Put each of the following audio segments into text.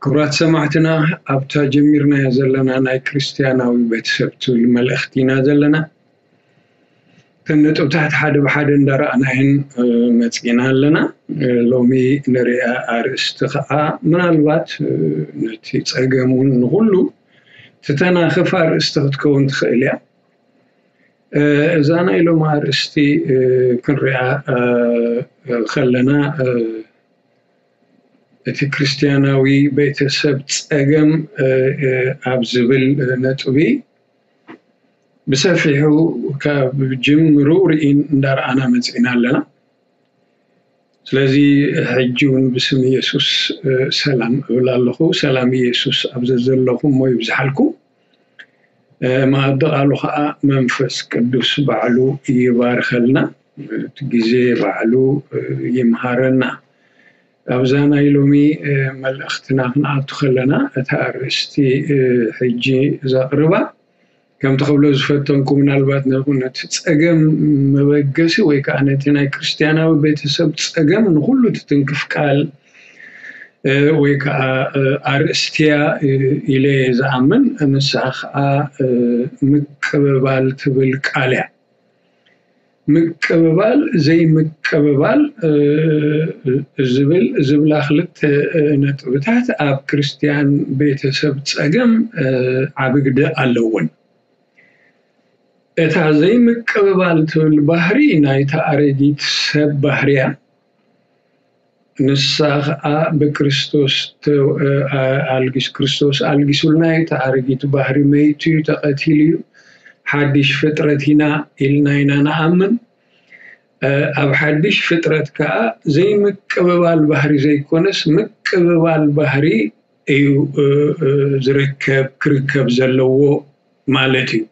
ክቡራት ሰማዕትና፣ ኣብታ ጀሚርናያ ዘለና ናይ ክርስትያናዊ ቤተሰብ ትብል መልእኽቲ ኢና ዘለና። እተን ነጥብታት ሓደ ብሓደ እንዳረኣናየን መፂና ኣለና። ሎሚ ንሪኣ ኣርእስቲ ከዓ ምናልባት ነቲ ፀገም እውን ንኩሉ ትተናኽፍ ኣርእስቲ ክትከውን ትኽእል እያ። እዛ ናይ ሎሚ ኣርእስቲ ክንሪኣ ከለና፣ እቲ ክርስትያናዊ ቤተሰብ ፀገም ኣብ ዝብል ነጥቢ ብሰፊሑ ካብ ጅምሩ ርኢን እንዳረኣና መፂና ኣለና። ስለዚ ሕጂ እውን ብስም ኢየሱስ ሰላም እብል ኣለኹ። ሰላም ኢየሱስ ኣብ ዘዘለኹም እሞ ይብዝሓልኩም። መኣዲ ቃሉ ከዓ መንፈስ ቅዱስ ባዕሉ ይባርከልና፣ እቲ ግዜ ባዕሉ ይምሃረና። ኣብዛ ናይ ሎሚ መልእኽትና ክንኣቱ ከለና፣ እታ ኣርእስቲ ሕጂ ዘቕርባ ከምቲ ክብሎ ዝፈተንኩ፣ ምናልባት ነቲ ፀገም መበገሲ ወይ ከዓ ነቲ ናይ ክርስትያናዊ ቤተሰብ ፀገም ንኩሉ ትትንክፍ ቃል ወይ ከዓ ኣርእስቲያ ኢለ ዝኣምን፣ ንሳ ከዓ ምቅብባል ትብል ቃል እያ። ምቅብባል ዘይምቅብባል ዝብል ዝብላ ክልተ ነጥብታት ኣብ ክርስትያን ቤተሰብ ፀገም ዓቢ ግደ ኣለውን። እታ ዘይምቅብባል ትብል ባህሪ ናይታ ኣረጊት ሰብ ባህርያ። ንሳ ኸዓ ብክርስቶስ ኣልጊስ ክርስቶስ ኣልጊሱልና እዩ። እቲ ኣረጊት ባህሪ መይቱ እዩ፣ ተቐቲሉ እዩ፣ ሓድሽ ፍጥረት ኢና ኢልና ኢና ንኣምን። ኣብ ሓድሽ ፍጥረት ከዓ ዘይምቅብባል ባህሪ ዘይኮነስ ምቅብባል ባህሪ እዩ ዝርከብ ክርከብ ዘለዎ ማለት እዩ።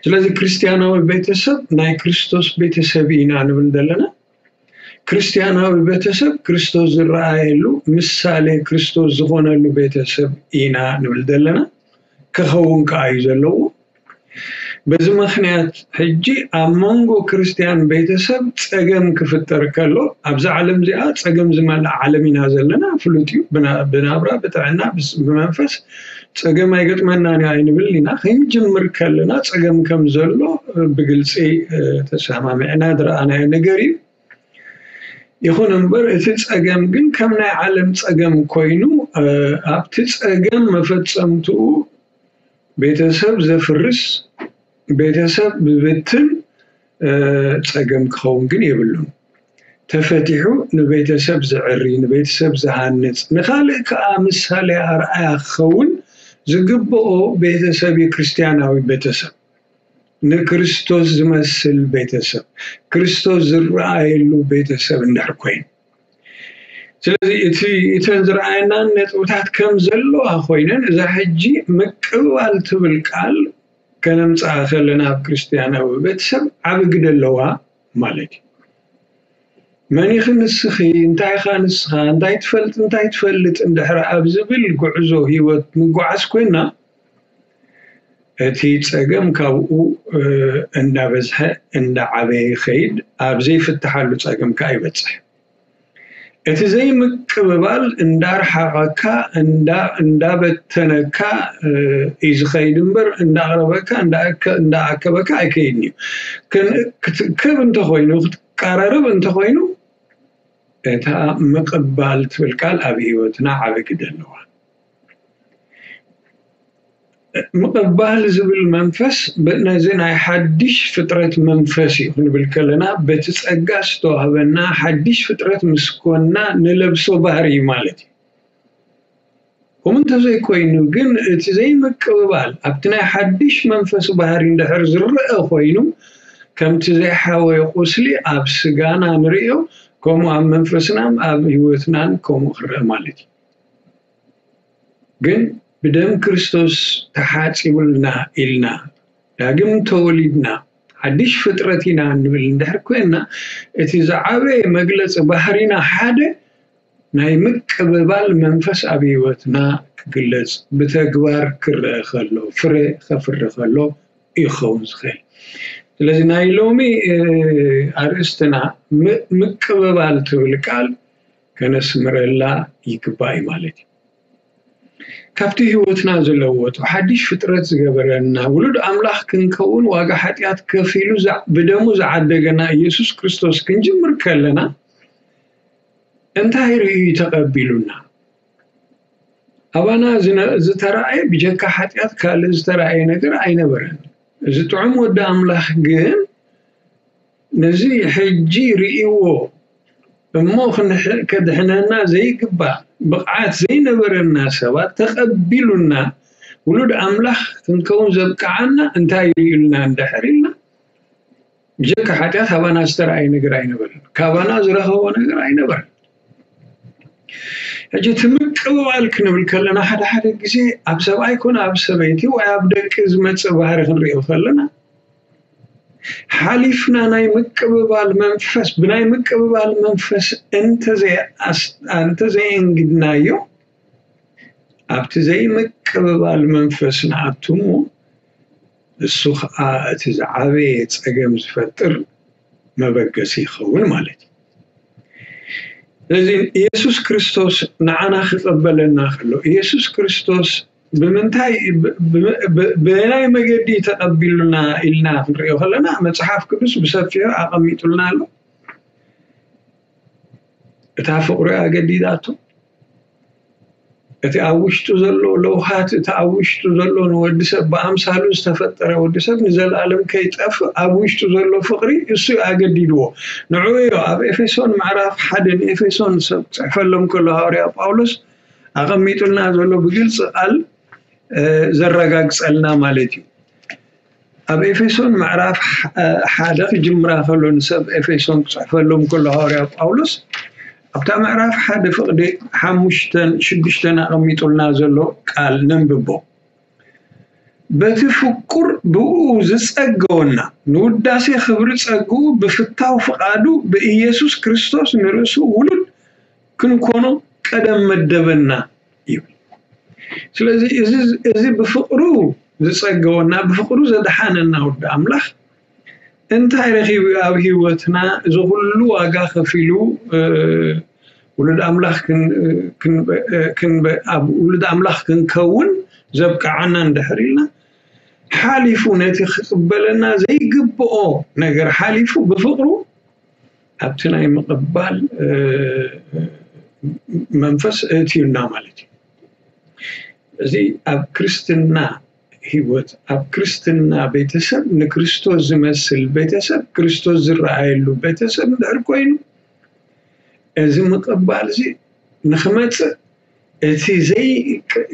ስለዚ ክርስትያናዊ ቤተሰብ ናይ ክርስቶስ ቤተሰብ ኢና ንብል ዘለና። ክርስትያናዊ ቤተሰብ ክርስቶስ ዝረኣየሉ ምሳሌ ክርስቶስ ዝኾነሉ ቤተሰብ ኢና ንብል ዘለና። ክኸውን ከዓ እዩ ዘለዎ። በዚ ምኽንያት ሕጂ ኣብ መንጎ ክርስትያን ቤተሰብ ጸገም ክፍጠር ከሎ፣ ኣብዛ ዓለም እዚኣ ጸገም ዝመልኣ ዓለም ኢና ዘለና፣ ፍሉጥ እዩ። ብናብራ፣ ብጥዕና፣ ብመንፈስ ጸገም ኣይገጥመናን እዩ ኣይንብል ኢና። ክንጅምር ከለና ጸገም ከም ዘሎ ብግልጺ ተሰማሚዕና ዝረኣናዮ ነገር እዩ። ይኹን እምበር እቲ ጸገም ግን ከም ናይ ዓለም ጸገም ኮይኑ፣ ኣብቲ ጸገም መፈጸምትኡ ቤተሰብ ዘፍርስ፣ ቤተሰብ ዝብትን ጸገም ክኸውን ግን የብሉን። ተፈቲሑ ንቤተሰብ ዘዕሪ፣ ንቤተሰብ ዝሃንጽ፣ ንኻልእ ከዓ ምሳሌ ኣርኣያ ክኸውን ዝግብኦ ቤተሰብ እዩ ክርስትያናዊ ቤተሰብ። ንክርስቶስ ዝመስል ቤተሰብ፣ ክርስቶስ ዝረኣየሉ ቤተሰብ እንድሕር ኮይኑ። ስለዚ እቲ እተን ዝረኣየናን ነጥብታት ከም ዘለዋ ኮይነን፣ እዛ ሕጂ ምቅብባል ትብል ቃል ከነምፅኣ ከለና ኣብ ክርስትያናዊ ቤተሰብ ዓቢ ግደ ኣለዋ ማለት እዩ። መን ኢኺ ንስኺ፣ እንታይ ኢኻ ንስኻ፣ እንታይ ትፈልጥ እንታይ ትፈልጥ እንድሕር ኣብ ዝብል ጉዕዞ ህይወት ንጓዓዝ ኮይና፣ እቲ ጸገም ካብኡ እንዳበዝሐ እንዳዓበየ ይኸይድ። ኣብ ዘይፍትሓሉ ጸገም ከኣ ይበጽሕ። እቲ ዘይምቅብባል እንዳርሓቐካ፣ እንዳበተነካ እዩ ዝኸይድ እምበር፣ እንዳቕረበካ እንዳኣከበካ ኣይከይድን እዩ። ክትእከብ እንተኾይኑ፣ ክትቀራረብ እንተኾይኑ፣ እታ ምቕባል ትብል ቃል ኣብ ህይወትና ዓቢ ግደ ኣለዋ። ምቕባል ዝብል መንፈስ ነዚ ናይ ሓድሽ ፍጥረት መንፈስ እዩ ክንብል ከለና፣ በቲ ጸጋ ዝተዋህበና ሓድሽ ፍጥረት ምስ ኮንና ንለብሶ ባህሪ እዩ ማለት እዩ። ከምኡ እንተዘይኮይኑ ግን፣ እቲ ዘይምቅብባል ኣብቲ ናይ ሓድሽ መንፈስ ባህሪ እንድሕር ዝረአ ኮይኑ፣ ከምቲ ዘይሓወየ ቁስሊ ኣብ ስጋና ንርእዮ፣ ከምኡ ኣብ መንፈስናን ኣብ ህይወትናን ከምኡ ክረአ ማለት እዩ። ግን ብደም ክርስቶስ ተሓጺቡልና ኢልና፣ ዳግም ተወሊድና፣ ሓድሽ ፍጥረት ኢና እንብል እንድሕር ኮይንና፣ እቲ ዝዓበየ መግለጺ ባህሪና ሓደ ናይ ምቅብባል መንፈስ ኣብ ህይወትና ክግለጽ፣ ብተግባር ክረአ ከሎ፣ ፍረ ከፍሪ ከሎ ይኸውን ዝኽእል። ስለዚ ናይ ሎሚ ኣርእስትና ምቅብባል ትብል ቃል ከነስምረላ ይግባእ እዩ ማለት እዩ። ካብቲ ህይወትና ዝለወጡ ሓድሽ ፍጥረት ዝገበረና ውሉድ ኣምላኽ ክንከውን ዋጋ ሓጢኣት ከፊሉ ብደሙ ዝዓደገና ኢየሱስ ክርስቶስ ክንጅምር ከለና እንታይ ርእዩ ተቐቢሉና? ኣባና ዝተራእየ ብጀካ ሓጢኣት ካልእ ዝተራእየ ነገር ኣይነበረን። እዚ ጥዑም ወዲ ኣምላኽ ግን ነዚ ሕጂ ርእይዎ እሞ ከድሕነና ዘይግባእ ብቕዓት ዘይነበረና ሰባት ተቐቢሉና ውሉድ ኣምላኽ ክንከውን ዘብቅዓና እንታይ ርእዩልና እንድሕር ኢልና ብጀካ ሓጢኣት ኣባና ዝተራእየ ነገር ኣይነበረን። ካባና ዝረኸቦ ነገር ኣይነበረን። ሕጂ እቲ ምቅብባል ክንብል ከለና ሓደ ሓደ ግዜ ኣብ ሰብኣይ ኮነ ኣብ ሰበይቲ ወይ ኣብ ደቂ ዝመፅእ ባህሪ ክንሪኦ ከለና ሓሊፍና ናይ ምቅብባል መንፈስ ብናይ ምቅብባል መንፈስ እንተዘየንግድናዮ ኣብቲ ዘይምቅብባል መንፈስ ንኣቱ እሞ እሱ ከዓ እቲ ዝዓበየ ፀገም ዝፈጥር መበገሲ ይኸውን ማለት እዩ። ስለዚ ኢየሱስ ክርስቶስ ንዓና ክቐበለና ከሎ ኢየሱስ ክርስቶስ ብምንታይ ብናይ መገዲ ተቐቢሉና ኢልና ክንሪኦ ከለና መፅሓፍ ቅዱስ ብሰፊሑ ኣቐሚጡልና ኣሎ። እታ ፍቕሩ ኣገዲዳቶ እቲ ኣብ ውሽጡ ዘሎ ለውሃት እቲ ኣብ ውሽጡ ዘሎ ንወዲ ሰብ ብኣምሳሉ ዝተፈጠረ ወዲ ሰብ ንዘለኣለም ከይጠፍእ ኣብ ውሽጡ ዘሎ ፍቕሪ እሱ ኣገዲድዎ። ንዕኡ እዮ ኣብ ኤፌሶን ምዕራፍ ሓደ ንኤፌሶን ሰብ ክፅሕፈሎም ከሎ ሃዋርያ ጳውሎስ ኣቐሚጡልና ዘሎ ብግልፂ ቃል ዘረጋግፀልና ማለት እዩ። ኣብ ኤፌሶን ምዕራፍ ሓደ ክጅምራ ከሎ ንሰብ ኤፌሶን ክፅሕፈሎም ከሎ ሃዋርያ ጳውሎስ ኣብታ ምዕራፍ ሓደ ፍቕዲ ሓሙሽተን ሽዱሽተን ኣቐሚጡልና ዘሎ ቃል ነንብቦ። በቲ ፍቁር ብኡ ዝጸገወና ንውዳሴ ክብሪ ጸግኡ ብፍታው ፍቓዱ ብኢየሱስ ክርስቶስ ንርእሱ ውሉድ ክንኮኖ ቀደም መደበና ይብል። ስለዚ እዚ ብፍቕሩ ዝጸገወና ብፍቕሩ ዘድሓነና ወዲ ኣምላኽ እንታይ ረኺቡ ኣብ ህይወትና እዚ ኩሉ ዋጋ ከፊሉ ውሉድ ኣምላኽ ኣብ ውሉድ ኣምላኽ ክንከውን ዘብቅዓና እንድሕር ኢልና ሓሊፉ ነቲ ክቕበለና ዘይግብኦ ነገር ሓሊፉ ብፍቕሩ ኣብቲ ናይ ምቕባል መንፈስ እእትዩና ማለት እዩ። እዚ ኣብ ክርስትና ህይወት ኣብ ክርስትና ቤተሰብ ንክርስቶስ ዝመስል ቤተሰብ ክርስቶስ ዝረኣየሉ ቤተሰብ እንድሕር ኮይኑ እዚ ምቕባል እዚ ንክመፅእ እቲ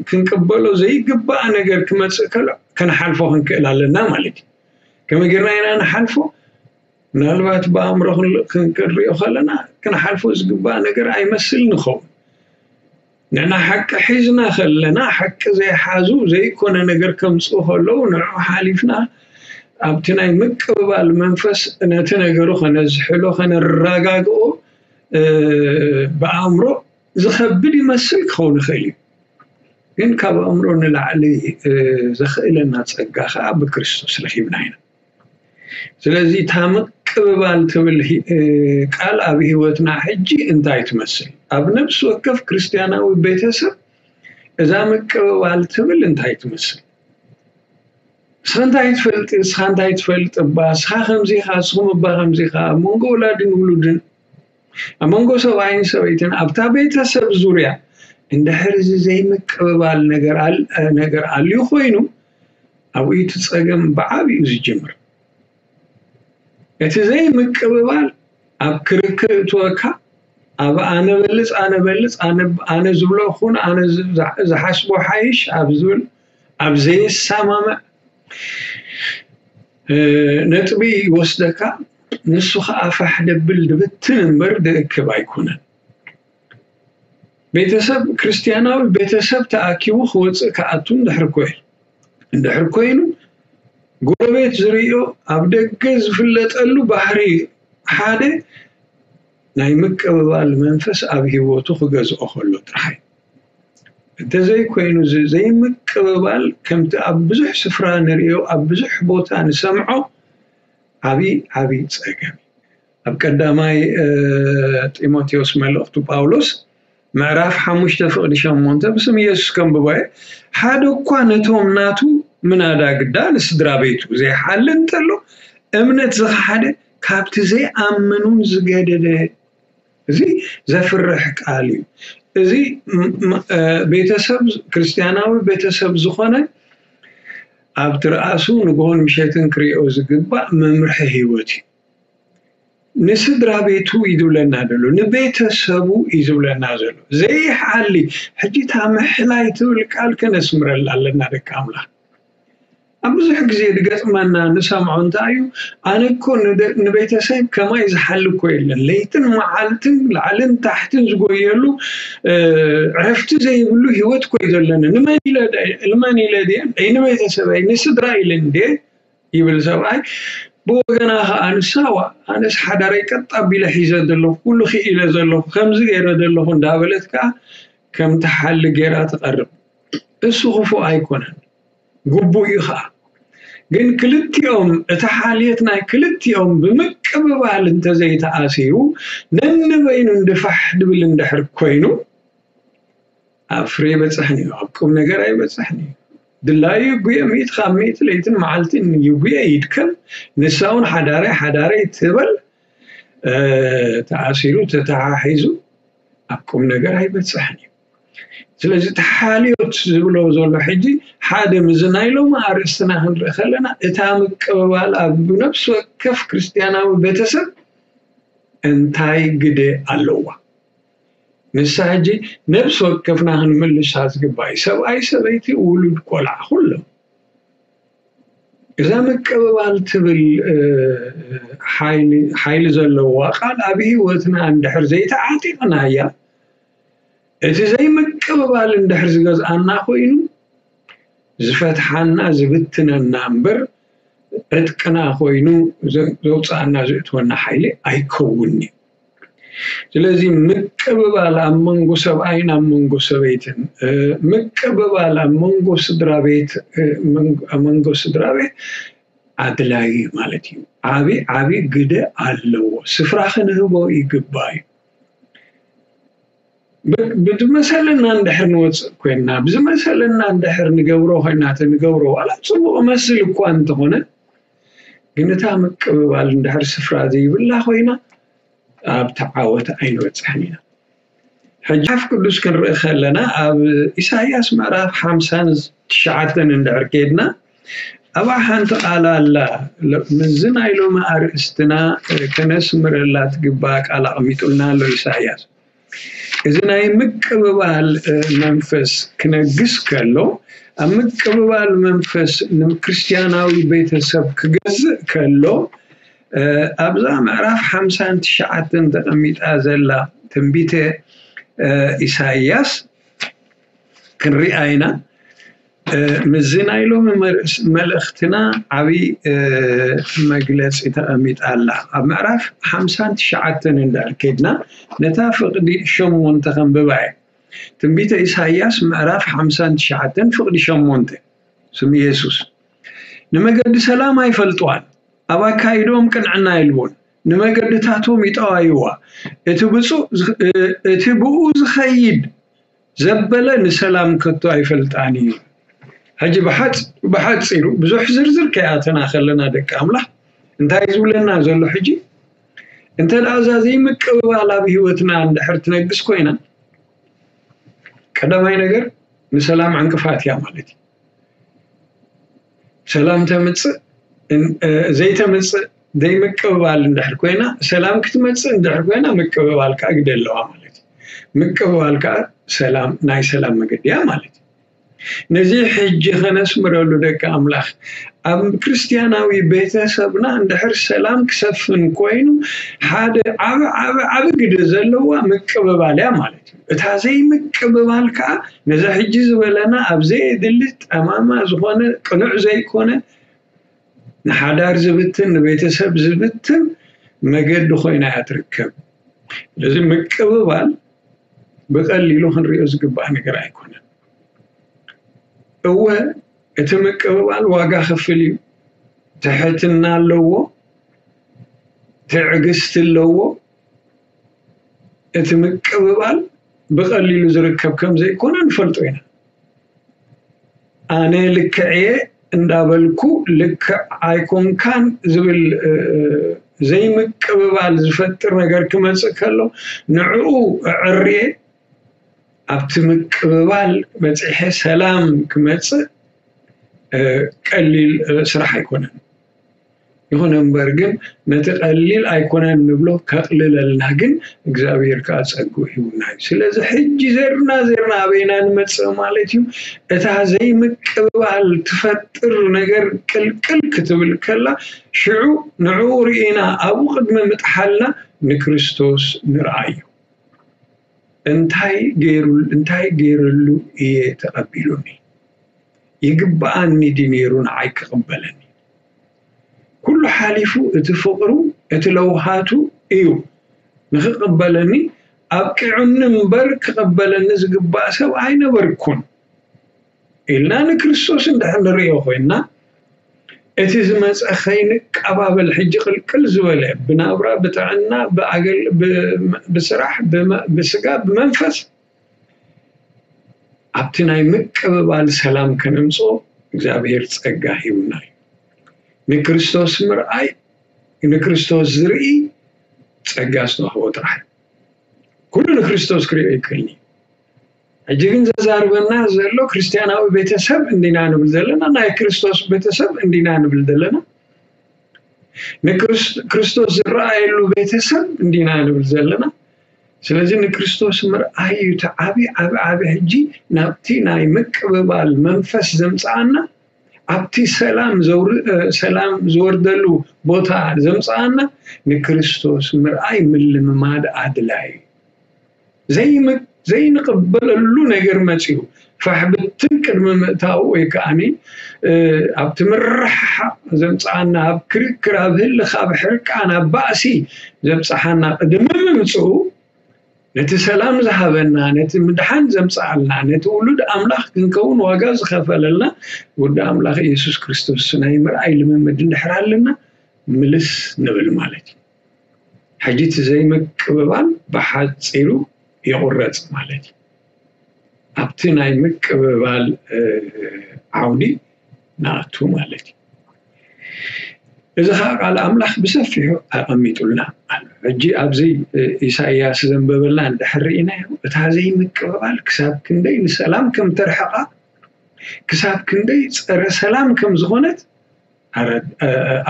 ክንቅበሎ ዘይግባእ ነገር ክመፅእ ከሎ ክንሓልፎ ክንክእል ኣለና ማለት እዩ። ከመይ ጌርና ኢና ንሓልፎ? ምናልባት ብኣእምሮ ክንሪኦ ከለና ክንሓልፎ ዝግባእ ነገር ኣይመስልን ይኸውን። ንሕና ሓቂ ሒዝና ከለና ሓቂ ዘይሓዙ ዘይኮነ ነገር ከምፅኡ ከለዉ ንዑ ሓሊፍና ኣብቲ ናይ ምቅብባል መንፈስ ነቲ ነገሩ ከነዝሕሎ ከነረጋግኦ ብኣእምሮ ዝኸብድ ይመስል ክኸውን ይኽእል እዩ። ግን ካብ ኣእምሮ ንላዕሊ ዘኽእለና ፀጋ ከዓ ብክርስቶስ ረኪብና ኢና። ስለዚ እታ ምቅብባል ትብል ቃል ኣብ ህይወትና ሕጂ እንታይ ትመስል? ኣብ ነብሲ ወከፍ ክርስትያናዊ ቤተሰብ እዛ ምቅብባል ትብል እንታይ ትመስል? ንስኻ እንታይ ትፈልጥ ንስኻ እንታይ ትፈልጥ እባ ንስኻ ከምዚ ኢኻ ንስኹም እባ ከምዚ ኢኻ ኣብ መንጎ ወላድን ውሉድን ኣብ መንጎ ሰብኣይን ሰበይትን ኣብታ ቤተሰብ ዙርያ እንድሕር እዚ ዘይምቅብባል ነገር ኣልዩ ኮይኑ ኣብኡ እቲ ፀገም ብዓብኡ ዝጅምር። እቲ ዘይምቅብባል ኣብ ክርክር እትወካ ኣብ ኣነ በልፅ ኣነ በልፅ ኣነ ዝብሎ ኩን ኣነ ዝሓስቦ ሓይሽ ኣብ ዝብል ኣብ ዘይሰማምዕ ነጥቢ ይወስደካ። ንሱ ከዓ ፋሕ ደብል ድብትን እምበር ድእክብ ኣይኮነን። ቤተሰብ ክርስትያናዊ ቤተሰብ ተኣኪቡ ክወፅእ ክኣቱ እንድሕር ኮይ እንድሕር ኮይኑ ጎረቤት ዝርእዮ ኣብ ደገ ዝፍለጠሉ ባህሪ ሓደ ናይ ምቅብባል መንፈስ ኣብ ህይወቱ ክገዝኦ ከሎ ጥራሕ እዩ። እንተዘይኮይኑ እዚ ዘይምቅብባል ከምቲ ኣብ ብዙሕ ስፍራ ንርእዮ ኣብ ብዙሕ ቦታ ንሰምዖ ዓብዪ ዓብዪ ፀገም እዩ። ኣብ ቀዳማይ ጢሞቴዎስ መልእኽቱ ጳውሎስ ምዕራፍ ሓሙሽተ ፍቕዲ ሸሞንተ ብስም ኢየሱስ ከንብቦ እየ። ሓደ እኳ ነቶም ናቱ ምናዳ ግዳ ንስድራ ቤቱ ዘይሓሊ እንተሎ፣ እምነት ዝኸሓደ ካብቲ ዘይኣምኑን ዝገደደ። እዚ ዘፍርሕ ቃል እዩ። እዚ ም- ም- እ፣ ቤተሰብ፣ ክርስቲያናዊ ቤተሰብ ዝኾነ ኣብ ትርኣሱ ንግሆን ምሸትን ክሪኦ ዝግባእ መምርሒ ህይወት እዩ። ንስድራ ቤቱ እዩ ዝብለና ዘሎ፣ ንቤተሰቡ እዩ ዝብለና ዘሎ። ዘይሓሊ ሕጂ እታ ምሕላይ ትብል ቃል ከነስምረላ ኣለና ደቂ ኣምላኽ። ኣብ ብዙሕ ግዜ ዝገጥመና ንሰምዖ እንታይ እዩ? ኣነ እኮ ንደ- ንቤተሰብ ከማይ ዝሓሊ እኮ የለን። ለይትን መዓልትን ላዕልን ታሕትን ዝጎየሉ፣ እ፣ ዕረፍቲ ዘይብሉ ህይወት እኮ እዩ ዘለና። ንመን ኢለ ደ- ንመን ኢለ ድየ? ኣይ ንቤተሰበይ ንስድራ ኢለ እንዴ ይብል ሰብኣይ። ብወገና ኸዓ ንሳዋ ኣነስ ሓዳረይ ቀጥ ኣቢለ ሒዘ ዘለኹ፣ ኩሉ ክኢለ ዘለኹ፣ ከምዚ ገይረ ዘለኹ እንዳበለት ከዓ ከም ትሓሊ ገይራ ትቐርብ። እሱ ክፉእ ኣይኮነን፣ ግቡእ እዩ ኸዓ። ግን ክልቲኦም፣ እቲ ሓልዮት ናይ ክልቲኦም ብምቅብባል እንተዘይተኣሲሩ፣ ነንበይኑ እንድፋሕ ድብል እንድሕር ኮይኑ፣ ኣብ ፍሬ ይበጽሕን እዩ፣ ኣብ ቁም ነገር ኣይበጽሕን እዩ። ድላዩ ይጉየ፣ ሚእቲ ካብ ሚእቲ ለይትን መዓልትን ይጉየ፣ ይድከም። ንሳ እውን ሓዳረይ ሓዳረይ ትበል፣ እ፣ ተኣሲሩ ተተሓሒዙ ኣብ ቁም ነገር ኣይበጽሕን እዩ። ስለዚ ተሓልዮት ዝብሎ ዘሎ ሕጂ ሓደ ምስዚ ናይ ሎሚ ኣርእስትና ክንርኢ ከለና እታ ምቅብባል ኣብ ነፍሲ ወከፍ ክርስትያናዊ ቤተሰብ እንታይ ግደ ኣለዋ? ንሳ ሕጂ ነፍሲ ወከፍና ክንምልሳ ዝግባእ እዩ። ሰብኣይ፣ ሰበይቲ፣ ውሉድ፣ ቆልዓ፣ ኩሎም። እዛ ምቅብባል ትብል፣ እ፣ ሓይሊ፣ ሓይሊ ዘለዋ ቃል ኣብ ህይወትና እንድሕር ዘይተዓጢቕናያ፣ እቲ ዘይምቅብባል እንድሕር ዝገዝኣና ኮይኑ፣ ዝፈትሓና፣ ዝብትነና እምበር፣ ዕጥቅና ኮይኑ ዘ-፣ ዘውፅኣና ዘእትወና ሓይሊ ኣይከውን'ዩ። ስለዚ ምቅብባል ኣብ መንጎ ሰብኣይን ኣብ መንጎ ሰበይትን፣ እ፣ ምቅብባል ኣብ መንጎ ስድራ ቤት፣ እ፣ መንጎ፣ ኣብ መንጎ ስድራ ቤት ኣድላዪ ማለት እዩ። ዓቢ፣ ዓቢ ግደ ኣለዎ። ስፍራ ክንህቦ ይግባእ እዩ። ብ-፣ ብዝመሰለና እንድሕር ንወፅእ ኮይንና፣ ብዝመሰለና እንድሕር ንገብሮ ኮይንና፣ እቲ ንገብሮ ዋላ ፅቡቕ እመስል እኳ እንተኾነ፣ ግን እታ ምቅብባል እንድሕር ስፍራ ዘይብላ ኮይና፣ ኣብቲ ዓወት ኣይንበጽሕን ኢና። ሕጂ መጽሓፍ ቅዱስ ክንርኢ ከለና፣ ኣብ ኢሳይያስ ምዕራፍ ሓምሳን ትሽዓተን እንድሕር ኬድና፣ ኣብኣ ሓንቲ ቃል ኣላ። ሎ-፣ ምስዚ ናይ ሎሚ ኣርእስትና፣ እ፣ ከነስምረላ ትግባእ ቃል ኣቐሚጡልና ኣሎ ኢሳይያስ። እዚ ናይ ምቅብባል፣ እ፣ መንፈስ ክነግስ ከሎ፣ ኣብ ምቅብባል መንፈስ ንክርስትያናዊ ቤተሰብ ክገዝእ ከሎ፣ እ፣ ኣብዛ ምዕራፍ ሓምሳን ትሽዓተን ተቐሚጣ ዘላ ትንቢተ፣ እ፣ ኢሳይያስ ክንሪኣ ኢና። እ፣ ምስዚ ናይ ሎሚ መርእስ-፣ መልእኽትና ዓብዪ፣ እ፣ መግለጺ ተቐሚጣ ኣላ። ኣብ ምዕራፍ ሓምሳን ትሽዓተን እንድሕር ኬድና፣ ነታ ፍቕዲ ሸሞንተ ከንብባ እየ። ትንቢተ ኢሳይያስ ምዕራፍ ሓምሳን ትሽዓተን ፍቕዲ ሸሞንተ። ስም የሱስ። ንመገዲ ሰላም ኣይፈልጥዋን፣ ኣብ ኣካይድኦም ቅንዕና የልቦን። ንመገድታቶም ይጠዋይዋ። እቲ ብፁዕ ዝ-፣ እ-፣ እቲ ብኡ ዝኸይድ ዘበለ ንሰላም ከቶ ኣይፈልጣን እዩ። ሕጂ ብሓጽ-፣ ብሓጺሩ ብዙሕ ዝርዝር ከይኣተና ከለና ደቂ ኣምላኽ እንታይ ዝብለና ዘሎ ሕጂ? እንተ ደኣ እዛ ዘይምቅብባል ኣብ ህይወትና እንድሕር ትነግስ ኮይና፣ ቀዳማይ ነገር ንሰላም ዕንቅፋት እያ ማለት እዩ። ሰላም ተምጽእ፣ እን-፣ እ፣ ዘይተምጽእ፣ ዘይምቅብባል እንድሕር ኮይና፣ ሰላም ክትመጽእ እንድሕር ኮይና፣ ምቅብባል ከኣ ግደ ኣለዋ ማለት እዩ። ምቅብባል ከኣ ሰላም፣ ናይ ሰላም መገዲ እያ ማለት እዩ። ነዚ ሕጂ ከነስምረሉ ደቂ ኣምላኽ፣ ኣብ ክርስትያናዊ ቤተሰብና እንድሕር ሰላም ክሰፍን ኮይኑ፣ ሓደ ዓቢ፣ ዓቢ፣ ዓቢ ግደ ዘለዋ ምቅብባል እያ ማለት እዩ። እታ ዘይምቅብባል ከኣ ነዚ ሕጂ ዝበለና ኣብ ዘየድሊ ጠማማ ዝኾነ ቅኑዕ ዘይኮነ ንሓዳር ዝብትን ንቤተሰብ ዝብትን መገዲ ኮይና እያ ትርከብ። ስለዚ ምቅብባል ብቐሊሉ ክንሪኦ ዝግባእ ነገር ኣይኮነን። እወ እቲ ምቅብባል ዋጋ ከፍል እዩ። ትሕትና ኣለዎ፣ ትዕግስቲ ኣለዎ። እቲ ምቅብባል ብቐሊሉ ዝርከብ ከም ዘይኮነ ንፈልጦ ኢና። ኣነ ልክዕ እየ እንዳበልኩ ልክዕ ኣይኮንካን ዝብል ዘይምቅብባል ዝፈጥር ነገር ክመፅእ ከሎ ንዕኡ ዕርየ ኣብቲ ምቅብባል በፂሐ ሰላም ክመፅእ ቀሊል ስራሕ ኣይኮነን። ይኹን እምበር ግን ነቲ ቀሊል ኣይኮነን ንብሎ ከቕልለልና ግን እግዚኣብሔር ከዓ ጸግኡ ሂቡና እዩ። ስለዚ ሕጂ ዘርና ዘርና ኣበይና ንመጽእ ማለት እዩ? እታ ዘይምቅብባል ትፈጥር ነገር ቅልቅል ክትብል ከላ ሽዑ ንዕኡ ርኢና ኣብኡ ቅድሚ ምጥሓልና ንክርስቶስ ንርኣዮ። እንታይ ገይሩ እንታይ ገይረሉ እየ ተቐቢሉኒ? ይግብኣኒ ድዩ ነይሩ ንዓይ ክቕበለኒ? ኩሉ ሓሊፉ እቲ ፍቕሩ እቲ ለውሃቱ እዩ ንኽቕበለኒ ኣብቂዑኒ እምበር ክቕበለኒ ዝግባእ ሰብ ኣይነበርኩን ኢልና ንክርስቶስ እንድሕር ንርእዮ ኮይንና እቲ ዝመፀ ከይንቀባበል ሕጂ ቅልቅል ዝበለ ብናብራ ብጥዕና ብስራሕ ብስጋ ብመንፈስ ኣብቲ ናይ ምቅብባል ሰላም ከነምፅኦ እግዚኣብሔር ፀጋ ሂቡና እዩ። ንክርስቶስ ምርኣይ ንክርስቶስ ዝርኢ ፀጋ ዝተዋህቦ ጥራሕ ኩሉ ንክርስቶስ ክሪኦ ይክእልኒ። ሕጂ ግን ዘዛርበና ዘሎ ክርስትያናዊ ቤተሰብ እንዲና ንብል ዘለና ናይ ክርስቶስ ቤተሰብ እንዲና ንብል ዘለና ንክርስቶስ ዝረኣየሉ ቤተሰብ እንዲና ንብል ዘለና። ስለዚ ንክርስቶስ ምርኣይ እዩ እቲ ዓብ ዓብ ዓብ ሕጂ ናብቲ ናይ ምቅብባል መንፈስ ዘምፅኣና ኣብቲ ሰላም ሰላም ዝወርደሉ ቦታ ዘምፅኣና ንክርስቶስ ምርኣይ ምልምማድ ኣድላይ ዘይንቕበለሉ ነገር መፂኡ ፋሕብትን ቅድሚ ምእታው ወይ ከዓኒ ኣብቲ ምርሕሓቕ ዘምፅኣና ኣብ ክርክር ኣብ ህልኽ ኣብ ሕርቃን ኣብ ባእሲ ዘብፅሓና ቅድሚ ምምፅኡ ነቲ ሰላም ዝሃበና ነቲ ምድሓን ዘምፅኣልና ነቲ ውሉድ ኣምላኽ ክንከውን ዋጋ ዝኸፈለልና ወዲ ኣምላኽ ኢየሱስ ክርስቶስ ናይ ምርኣይ ልምምድ እንድሕር ኣለና ምልስ ንብል ማለት እዩ። ሕጂ እቲ ዘይምቅብባል ብሓፂሩ ይቑረፅ ማለት እዩ። ኣብቲ ናይ ምቅብባል ዓውዲ ንኣቱ ማለት እዩ። እዚ ከዓ ቃል ኣምላኽ ብሰፊሑ ኣቐሚጡልና ኣሎ። ሕጂ ኣብዚ ኢሳይያስ ዘንበበልና እንድሕር ርኢናዮ እታ ዘይምቅብባል ክሳብ ክንደይ ንሰላም ከም ተርሕቓ ክሳብ ክንደይ ፀረ ሰላም ከም ዝኾነት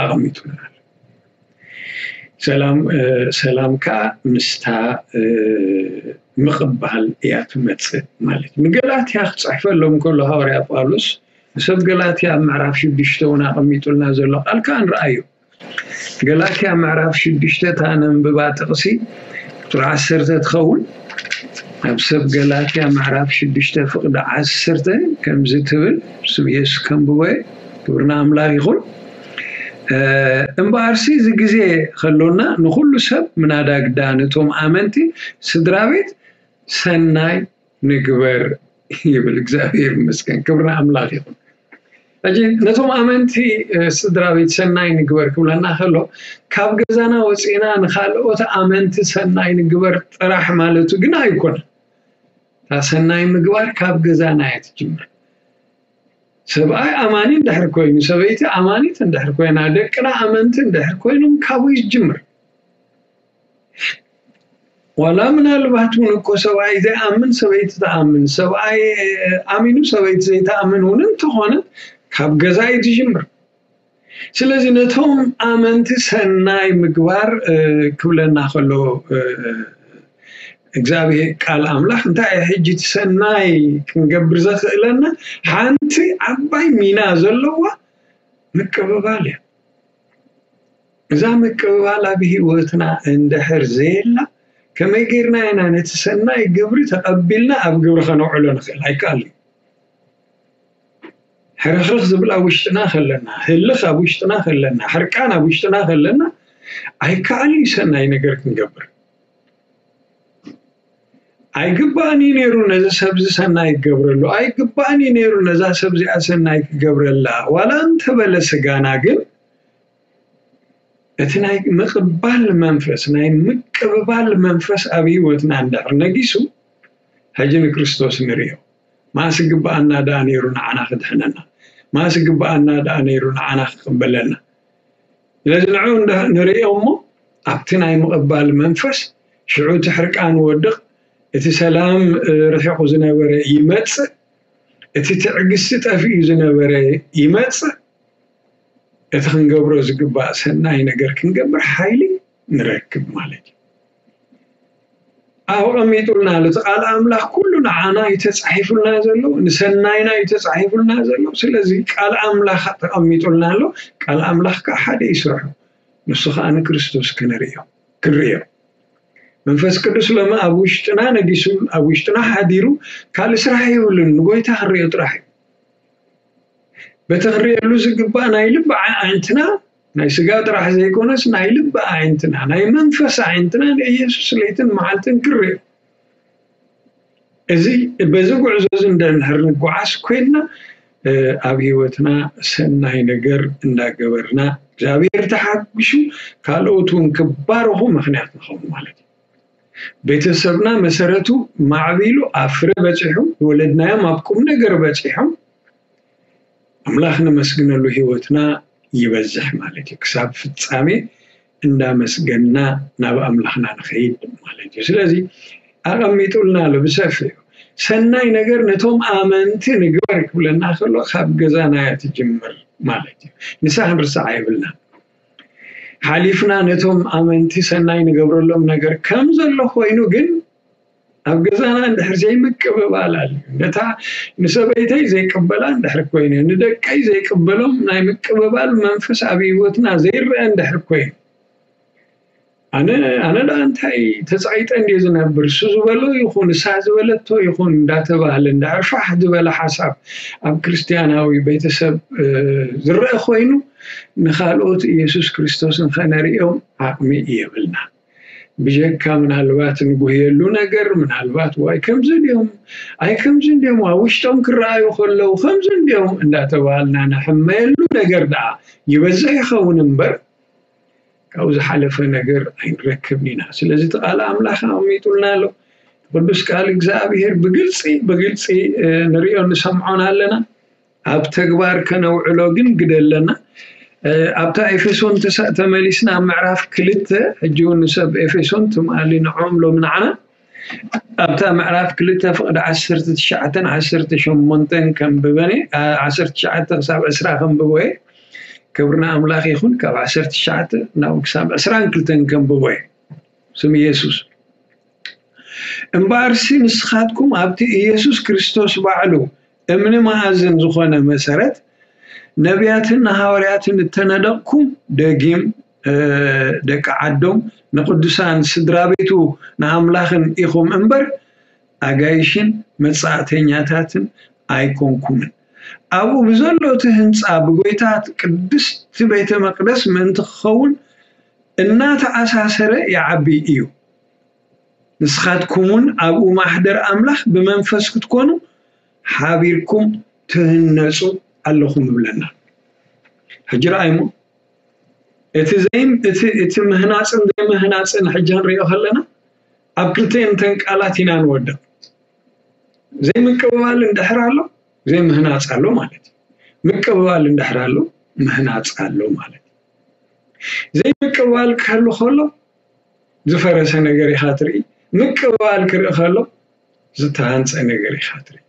ኣቐሚጡልና ኣሎ። ሰላም ሰላም ከዓ ምስታ ምቕባል እያ ትመፅእ ማለት እዩ። ንገላትያ ክፅሕፈሎም ከሎ ሃዋርያ ጳውሎስ ንሰብ ገላትያ ኣብ ምዕራፍ ሽዱሽተ እውን ኣቐሚጡልና ዘሎ ቃል ከዓ ንርኣዩ። ገላትያ ምዕራፍ ሽዱሽተ እታ ነንብባ ጥቕሲ ቁፅሪ ዓሰርተ ትኸውን። ኣብ ሰብ ገላትያ ምዕራፍ ሽዱሽተ ፍቕዲ ዓሰርተ ከምዚ ትብል ስም የሱስ ከንብቦ ክብርና ኣምላኽ ይኹን። እምበኣርሲ እዚ ግዜ ከሎና ንኹሉ ሰብ ምናዳ ግዳ ነቶም ኣመንቲ ስድራ ቤት ሰናይ ንግበር ይብል። እግዚኣብሔር ይመስገን፣ ክብርና ኣምላኽ ይኹን። ሕጂ ነቶም ኣመንቲ ስድራ ቤት ሰናይ ንግበር ክብለና ከሎ ካብ ገዛና ወፂና ንካልኦት ኣመንቲ ሰናይ ንግበር ጥራሕ ማለቱ ግን ኣይኮነን። እታ ሰናይ ምግባር ካብ ገዛና እያ ትጅምር። ሰብኣይ ኣማኒ እንድሕር ኮይኑ፣ ሰበይቲ ኣማኒት እንድሕር ኮይና፣ ደቅና ኣመንቲ እንድሕር ኮይኖም ካብኡ ይጅምር። ዋላ ምናልባት እውን እኮ ሰብኣይ ዘይኣምን ሰበይቲ ትኣምን፣ ሰብኣይ ኣሚኑ ሰበይቲ ዘይትኣምን እውን እንተኾነ ካብ ገዛ እዩ ትጅምር። ስለዚ ነቶም ኣመንቲ ሰናይ ምግባር ክብለና ከሎ እግዚኣብሔር ቃል ኣምላኽ እንታይ እዩ ሕጂ እቲ ሰናይ ክንገብር ዘኽእለና ሓንቲ ዓባይ ሚና ዘለዋ ምቅብባል እያ። እዛ ምቅብባል ኣብ ህይወትና እንድሕር ዘየላ ከመይ ጌርና ኢና ነቲ ሰናይ ግብሪ ተቐቢልና ኣብ ግብሪ ከነውዕሎ ንኽእል? ኣይከኣል እዩ። ሕርኽርኽ ዝብል ኣብ ውሽጥና ከለና፣ ህልኽ ኣብ ውሽጥና ከለና፣ ሕርቃን ኣብ ውሽጥና ከለና ኣይከኣል እዩ ሰናይ ነገር ክንገብር። ኣይግባእን እዩ ነይሩ ነዚ ሰብዚ ሰናይ ክገብረሉ፣ ኣይግባእን እዩ ነይሩ ነዛ ሰብዚኣ ሰናይ ክገብረላ ዋላ እንተበለ ስጋና ግን እቲ ናይ ምቕባል መንፈስ ናይ ምቅብባል መንፈስ ኣብ ህይወትና እንድሕር ነጊሱ ሕጂ ንክርስቶስ ንርእዮ። ማስ ግብኣና ደኣ ነይሩ ንዓና ክድሕነና? ማስ ግብኣና ደኣ ነይሩ ንዓና ክቕበለና? ስለዚ ንዑ እንዳ- ንርእዮ እሞ፣ ኣብቲ ናይ ምቕባል መንፈስ ሽዑ እቲ ሕርቃን ወድቕ፣ እቲ ሰላም ርሒቑ ዝነበረ ይመጽእ፣ እቲ ትዕግስቲ ጠፊኡ ዝነበረ ይመጽእ፣ እቲ ክንገብሮ ዝግባእ ሰናይ ነገር ክንገብር ሓይሊ ንረክብ ማለት እዩ። ኣቐሚጡልና ኣሎ። እቲ ቃል ኣምላኽ ኩሉ ንዓና እዩ ተጻሒፉልና ዘሎ፣ ንሰናይና እዩ ተጻሒፉልና ዘሎ። ስለዚ ቃል ኣምላኽ ተቐሚጡልና ኣሎ። ቃል ኣምላኽ ከዓ ሓደ ይስርሑ፣ ንሱ ከዓ ንክርስቶስ ክንርእዮ ክንርእዮ። መንፈስ ቅዱስ ሎሚ ኣብ ውሽጥና ነጊሱ፣ ኣብ ውሽጥና ሓዲሩ፣ ካልእ ስራሕ የብሉን፣ ንጎይታ ክንርእዮ ጥራሕ እዩ። በቲ ክንርእየሉ ዝግባእ ናይ ልቢ ኣዒንትና፣ ናይ ስጋ ጥራሕ ዘይኮነስ ናይ ልቢ ኣዒንትና፣ ናይ መንፈስ ኣዒንትና ንኢየሱስ ለይትን መዓልትን ክንርኢ። እዚ በዚ ጉዕዞ እዚ እንደንሕር ንጓዓዝ ኮይንና፣ ኣብ ህይወትና ሰናይ ነገር እንዳገበርና፣ እግዚኣብሔር ተሓጒሱ ካልኦት እውን ክባረኹ ምኽንያት ንኸውን ማለት እዩ። ቤተሰብና መሰረቱ ማዕቢሉ ኣብ ፍረ በፂሑ፣ ዝወለድናዮም ኣብ ቁም ነገር በፂሖም፣ ኣምላኽ ነመስግነሉ ህይወትና ይበዝሕ ማለት እዩ። ክሳብ ፍጻሜ እንዳመስገንና ናብ ኣምላኽና ንኸይድ ማለት እዩ። ስለዚ ኣቐሚጡልና ኣሎ ብሰፊሑ። ሰናይ ነገር ነቶም ኣመንቲ ንግበር ክብለና ከሎ ካብ ገዛና እያ ትጅምር ማለት እዩ። ንሳ ክንርስዓ የብልና። ሓሊፍና ነቶም ኣመንቲ ሰናይ ንገብረሎም ነገር ከም ዘሎ ኮይኑ ግን ኣብ ገዛና እንድሕር ዘይምቅብባል ኣሎ፣ ነታ ንሰበይተይ ዘይቅበላ እንድሕር ኮይነ፣ ንደቀይ ዘይቅበሎም ናይ ምቅብባል መንፈስ ኣብ ህይወትና ዘይረአ እንድሕር ኮይኑ፣ ኣነ ኣነ ደኣ እንታይ ተጻይጠ እንድየ ዝነብር? እሱ ዝበሎ ይኹን እሳ ዝበለቶ ይኹን እንዳተባህለ እንድሕር ፋሕ ዝበለ ሓሳብ ኣብ ክርስትያናዊ ቤተሰብ ዝረአ ኮይኑ፣ ንኻልኦት ኢየሱስ ክርስቶስን ከነርእዮም ዓቕሚ የብልና። ብጀካ ምናልባት ንጉህየሉ ነገር፣ ምናልባት ዋይ ከምዚ ድዮም፣ ኣይ ከምዚ እንድዮም፣ ኣብ ውሽጦም ክረኣዩ ከለዉ ከምዚ እንድዮም እንዳተባሃልና ንሕመየሉ ነገር ደኣ ይበዝሕ ይኸውን እምበር፣ ካብኡ ዝሓለፈ ነገር ኣይንረክብን ኢና። ስለዚ እቲ ቃል ኣምላኽ ኣቐሚጡልና ኣሎ። ቅዱስ ቃል እግዚኣብሔር ብግልጺ ብግልጺ ንርእዮ ንሰምዖን ኣለና። ኣብ ተግባር ከነውዕሎ ግን ግደ ኣለና። ኣብታ ኤፌሶን ተመሊስና ኣብ ምዕራፍ ክልተ፣ ሕጂ እውን ንሰብ ኤፌሶን ትማሊ ንዖም ሎም ንዓና ኣብታ ምዕራፍ ክልተ ፍቕዲ ዓሰርተ ትሽዓተን ዓሰርተ ሸሞንተን ከንብበን ዓሰርተ ትሽዓተ ክሳብ ዕስራ ከንብቦ እየ። ክብርና ኣምላኽ ይኹን። ካብ ዓሰርተ ትሽዓተ ናብ ክሳብ ዕስራን ክልተን ከንብቦ እየ። ስም ኢየሱስ። እምበኣርሲ ንስኻትኩም ኣብቲ ኢየሱስ ክርስቶስ ባዕሉ እምኒ መኣዝን ዝኾነ መሰረት፣ ነቢያትን ንሃዋርያትን እተነደቕኩም፣ ደጊም ደቂ ዓዶም ንቅዱሳን ስድራ ቤቱ ንኣምላኽን ኢኹም እምበር ኣጋይሽን መጻእተኛታትን ኣይኮንኩምን። ኣብኡ ብዘሎ እቲ ህንጻ ብጎይታ ቅድስቲ ቤተ መቅደስ ምእንቲ ክኸውን እናተኣሳሰረ ይዓቢ እዩ። ንስኻትኩም እውን ኣብኡ ማሕደር ኣምላኽ ብመንፈስ ክትኮኑ ሓቢርኩም ትህነጹ ኣለኹም ይብለና። ሕጂ ረኣይሞ እቲ ዘይም እቲ እቲ ምህናጽን ዘይምህናጽን ሕጂ ክንሪኦ ከለና ኣብ ክልተን ተን ቃላት ኢና ንወድቕ። ዘይምቅብባል እንድሕር ኣሎ ዘይምህናጽ ኣሎ ማለት እዩ። ምቅብባል እንድሕር ኣሎ ምህናጽ ኣሎ ማለት እዩ። ዘይምቅብባል ክህሉ ከሎ ዝፈረሰ ነገር ኢኻ ትርኢ። ምቅብባል ክርኢ ከሎ ዝተሃንጸ ነገር ኢኻ ትርኢ።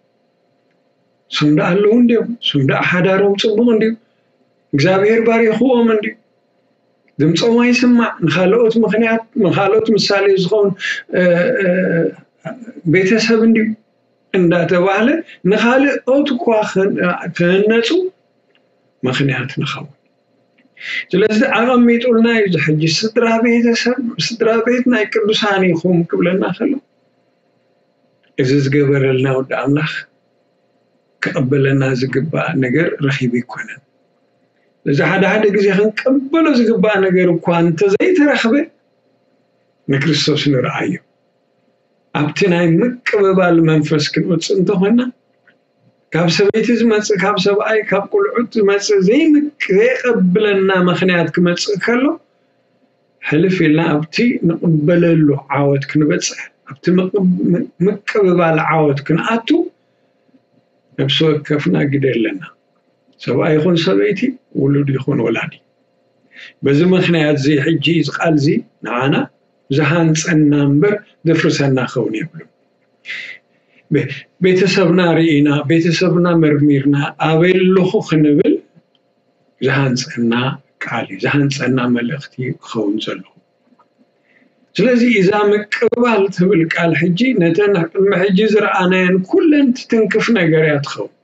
ስም ደኣ ኣለዉ እንድዮም፣ ስም ደኣ ሓዳሮም ጽቡቕ እንድዩ፣ እግዚኣብሔር ባሪኽዎም እንድዩ። ድምፆም ኣይስማዕ። ንኻልኦት ምኽንያት ንኻልኦት ምሳሌ ዝኸውን ቤተሰብ እንድዩ እንዳተባህለ ንኻልኦት እኳ ክህነፁ ምኽንያት ንኸውን። ስለዚ ኣቐሚጡልና እዩ እዚ ሕጂ ስድራ ቤተሰብ ስድራ ቤት ናይ ቅዱሳን ኢኹም ክብለና ከሎ እዚ ዝገበረልና ወዲ ኣምላኽ ክቕበለና ዝግባእ ነገር ረኺቡ ኣይኮነን። እዚ ሓደ ሓደ ግዜ ክንቅበሎ ዝግባእ ነገር እኳ እንተዘይተረኽበ ንክርስቶስ ንርኣዮ። ኣብቲ ናይ ምቅብባል መንፈስ ክንወፅእ እንተኾይና ካብ ሰበይቲ ዝመፅእ ካብ ሰብኣይ ካብ ቁልዑት ዝመፅእ ዘይምቅ ዘይቀብለና ምኽንያት ክመፅእ ከሎ ሕልፍ ኢልና ኣብቲ ንቕበለሉ ዓወት ክንበፅሕ ኣብቲ ምቅብ- ምቅብባል ዓወት ክንኣቱ ነብሲ ወከፍና ግደ ኣለና። ሰብኣይ ይኹን ሰበይቲ፣ ውሉድ ይኹን ወላዲ። በዚ ምኽንያት እዚ ሕጂ እዚ ቃል እዚ ንዓና ዝሃንጸና እምበር ዘፍርሰና ክኸውን የብሉን። ቤ- ቤተሰብና ርኢና፣ ቤተሰብና መርሚርና፣ ኣበይ ኣለኹ ክንብል ዝሃንጸና ቃል እዩ፣ ዝሃንጸና መልእኽቲ ክኸውን ዘለዎ። ስለዚ እዛ ምቅብባል ትብል ቃል ሕጂ ነተን ቅድሚ ሕጂ ዝረኣናየን ኩለን ትትንክፍ ነገር እያ ትኸውን።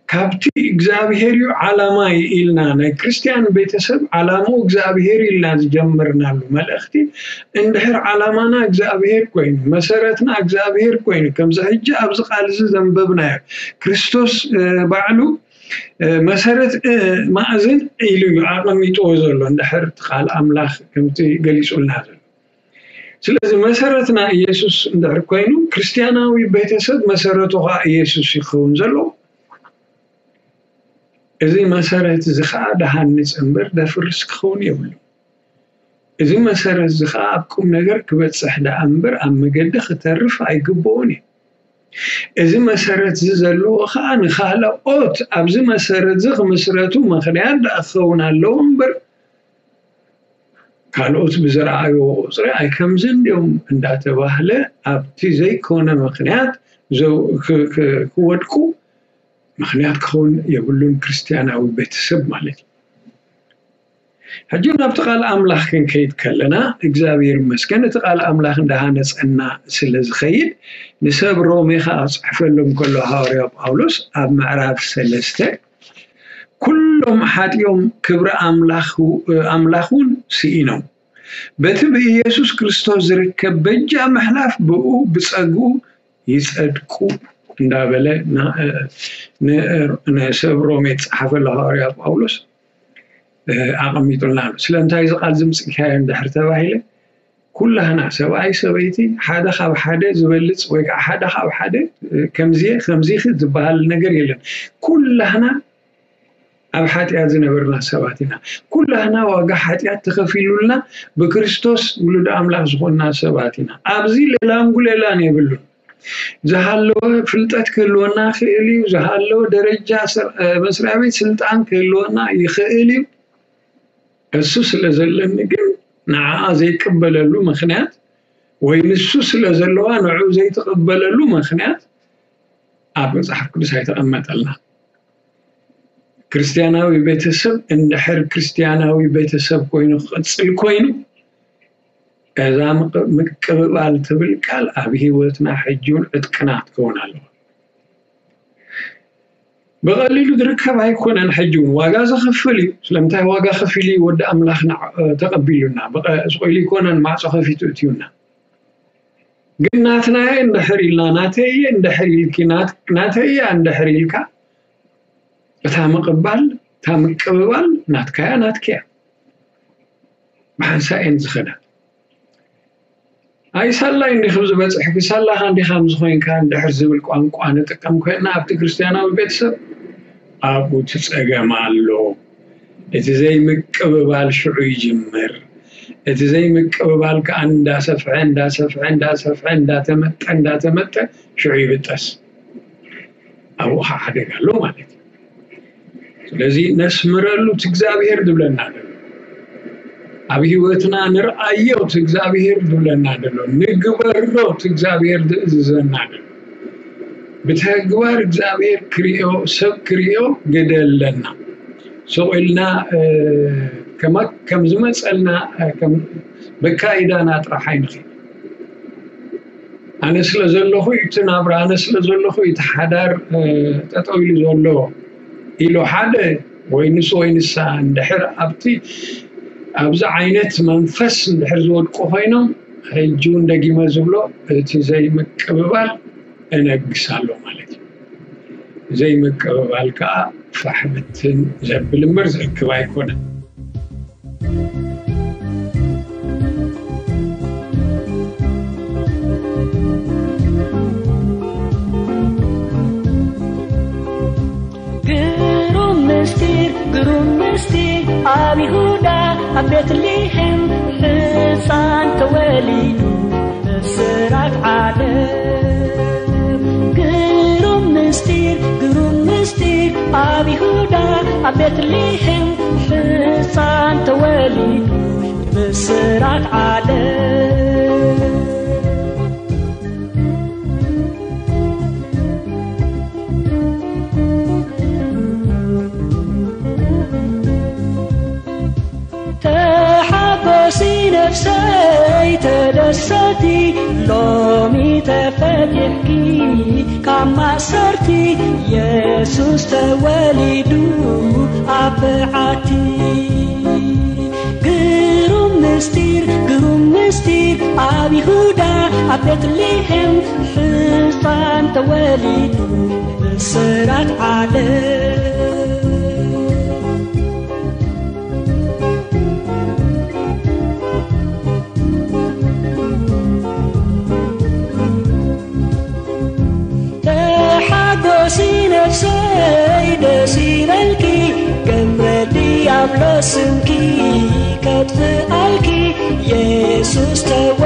ካብቲ እግዚኣብሔር እዩ ዓላማይ ኢልና፣ ናይ ክርስትያን ቤተሰብ ዓላማኡ እግዚኣብሔር ኢልና ዝጀመርናሉ መልእኽቲ፣ እንድሕር ዓላማና እግዚኣብሔር ኮይኑ፣ መሰረትና እግዚኣብሔር ኮይኑ፣ ከምዚ ሕጂ ኣብዚ ቃል እዚ ዘንበብናዮ፣ ክርስቶስ እ፣ ባዕሉ እ፣ መሰረት እ፣ ማእዝን ኢሉ እዩ ኣቐሚጥዎ ዘሎ፣ እንድሕር እቲ ቃል ኣምላኽ ከምቲ ገሊጹልና ዘሎ። ስለዚ መሰረትና ኢየሱስ እንድሕር ኮይኑ፣ ክርስትያናዊ ቤተሰብ መሰረቱ ኸዓ ኢየሱስ ይኸውን ዘሎ። እዚ መሰረት እዚ ኸዓ ደሃንጽ እምበር ደፍርስ ክኸውን የብሉ። እዚ መሰረት እዚ ኸዓ ኣብ ቁም ነገር ክበጽሕ ደኣ እምበር ኣብ መገዲ ክተርፍ ኣይግብኦን እዩ። እዚ መሰረት እዚ ዘለዎ ኸዓ ንኻልኦት ኣብዚ መሰረት እዚ ክምስረቱ ምኽንያት ደኣ ክኸውን ኣለዎ እምበር፣ ካልኦት ብዝረኣይዎ ቁጽሪ ኣይ ከምዚ እንዲዮም እንዳተባህለ ኣብቲ ዘይኮነ ምኽንያት ዘው- ክ- ክ- ክወድቁ ምኽንያት ክኸውን የብሉን ክርስትያናዊ ቤተሰብ ማለት እዩ። ሕጂ ናብቲ ቃል ኣምላኽ ክንከይድ ከለና እግዚኣብሔር ይመስገን እቲ ቃል ኣምላኽ እንዳሃነጸና ስለ ዝኸይድ ንሰብ ሮሜ ኸዓ ክጽሕፈሎም ከሎ ሃዋርያ ጳውሎስ ኣብ ምዕራፍ ሰለስተ ኩሎም ሓጢኦም ክብሪ ኣምላኽ ኣምላኽ እውን ስኢኖም በቲ ብኢየሱስ ክርስቶስ ዝርከብ በጃ ምሕላፍ ብኡ ብጸግኡ ይጸድቁ እንዳበለ ንሰብ ሮሜ ዝጸሓፈሉ ሃዋርያ ጳውሎስ ኣቐሚጡልና ኣሎ። ስለምንታይ እዚ ቃል ዝምፅእካዮ እንድሕር ተባሂለ ኩላህና ሰብኣይ ሰበይቲ ሓደ ካብ ሓደ ዝበልፅ ወይ ከዓ ሓደ ካብ ሓደ ከምዚ ከምዚ ዝበሃል ነገር የለን። ኩላህና ኣብ ሓጢኣት ዝነበርና ሰባት ኢና። ኩላህና ዋጋ ሓጢኣት ተኸፊሉልና ብክርስቶስ ውሉድ ኣምላኽ ዝኾንና ሰባት ኢና። ኣብዚ ሌላን ጉሌላን የብሉን። ዝሃለወ ፍልጠት ክህልወና ይኽእል እዩ። ዝሃለወ ደረጃ መስሪያ ቤት ስልጣን ክህልወና ይኽእል እዩ። እሱ ስለ ዘለኒ ግን ንዓኣ ዘይቅበለሉ ምኽንያት ወይ ንሱ ስለ ዘለዋ ንዕኡ ዘይትቕበለሉ ምኽንያት ኣብ መፅሓፍ ቅዱስ ኣይተቐመጠልና። ክርስትያናዊ ቤተሰብ እንድሕር ክርስትያናዊ ቤተሰብ ኮይኑ ክቕፅል ኮይኑ እዛ ምቅብባል ትብል ቃል ኣብ ህይወትና ሕጂ እውን ዕጥቅና ክትከውን ኣለዋ። ብቐሊሉ ዝርከብ ኣይኮነን። ሕጂ እውን ዋጋ ዘኽፍል እዩ። ስለምንታይ ዋጋ ከፊሉ እዩ? ወዲ ኣምላኽ ተቐቢሉና ስቕ ኢሉ ኣይኮነን ማዕፆ ከፊቱ እትዩና። ግን ናትናየ እንድሕር ኢልና ናተየ እንድሕር ኢልኪ ናተያ እንድሕር ኢልካ እታ ምቕባል እታ ምቅብባል ናትካያ ናትክያ ብሓንሳእ እየን ዝኸዳ። ኣይ ሳላይ እንዲኹም ዝበፅሕኪ ሳላኻ እንዲኻ ምዝኾይንካ እንድሕር ዝብል ቋንቋ ንጥቀም ኮይንና ኣብቲ ክርስትያናዊ ቤተሰብ ኣብኡ እቲ ፀገም ኣሎ። እቲ ዘይምቅብባል ሽዑ ይጅምር። እቲ ዘይምቅብባል ከዓ እንዳሰፍሐ እንዳሰፍሐ እንዳሰፍሐ እንዳተመጠ እንዳተመጠ ሽዑ ይብጠስ። ኣብኡ ከዓ ሓደጋ ኣሎ ማለት እዩ። ስለዚ ነስምረሉ እቲ እግዚኣብሔር ዝብለና ዘሎ ኣብ ህይወትና ንርኣዮ እቲ እግዚኣብሔር ዝብለና ዘሎ ንግበሮ እቲ እግዚኣብሔር ዝእዝዘና ዘሎ ብተግባር እግዚኣብሔር ክሪኦ ሰብ ክሪኦ ግደ ኣለና። ስቕ ኢልና ከም ዝመፀልና በካይዳና ጥራሕ ኣይንኽእል። ኣነ ስለ ዘለኹ እቲ ናብራ ኣነ ስለ ዘለኹ እቲ ሓዳር ጠጠው ኢሉ ዘሎ ኢሉ ሓደ ወይ ንሱ ወይ ንሳ እንድሕር ኣብቲ ኣብዚ ዓይነት መንፈስ እንድሕር ዝወድቁ ኮይኖም ሕጂ እውን ደጊመ ዝብሎ እቲ ዘይምቅብባል እነግስ ኣሎ ማለት እዩ። ዘይምቅብባል ከዓ ፋሕ ብትን ዘብል እምበር ዘእክብ ኣይኮነን። ግሩም ምስጢር ግሩም ምስጢር ኣብ ይሁዳ ኣብ ቤትልሔም ሕፃን ተወሊዱ ኣብ ቤትልሔም ሕፃን ተወሊዱ ብስራት ዓለም። ተሓጎሲ ነፍሰይ ተደሰቲ፣ ሎሚ ተፈቲሕኪ ካብ ማእሰርቲ። የሱስ ተወሊዱ ኣብ በዓቲ። ግሩም ምስጢር፣ ግሩም ምስጢር፣ ኣብ ይሁዳ ኣብ ቤትልሔም ሕፃን ተወሊዱ ብስራት ዓለም። ተሓጎሲ ነፍሰይ ደስ ይበልኪ፣ ገብረ ዲያብሎስ ስምኪ ከጥፍኣልኪ፣ የሱስ ተወ